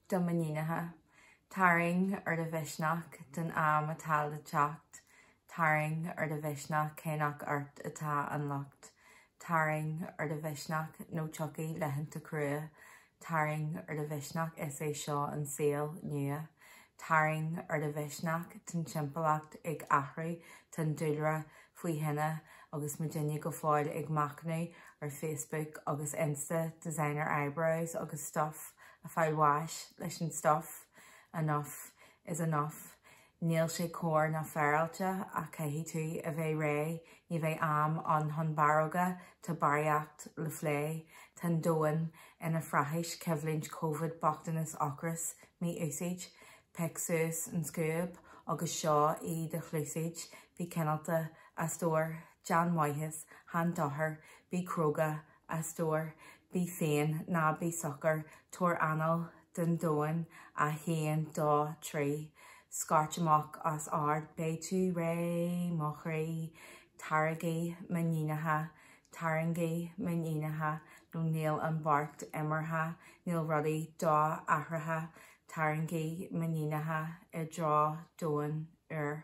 Do m'iníonacha. Tarraing ar do mhisneach don am atá le teacht, tarraing ar do mhisneach cé nach ort atá an locht, tarraing ar do mhisneach nó tiocfaidh laethanta crua, tarraing ar do mhisneach is é seo an saol nua, tarraing ar do mhisneach tá'n timpeallacht ag athrú, tá'n dúlra faoi thine agus muidinne go fóill ag machnamh ar Facebook agus Insta designer eyebrows agus stuff a fáil bháis leis an stuff enough is enough níl sé cóir ná féaráilte ach caithfidh tú a bheith réidh ní bheidh am ann chun barróga tá barraíocht le plé tá an domhan ina phraghais coimhlint covid bochtanas ocras mí-úsáid pioc suas an scuab agus seo í do chluasaid bí cineálta a stór déan maitheas chan dochar bí cróga a stór, bí féin, ná bí socair, tabhair anáil don domhan, 1, 2, 3, scairt amach os ard, beidh tú réidh, mo chroí, taraigí m'iníonacha, tarraingí m'iníonacha, nó níl an beart imeartha, níl rudaí do-athraithe, tarraingí m'iníonacha i dtreo domhan úr.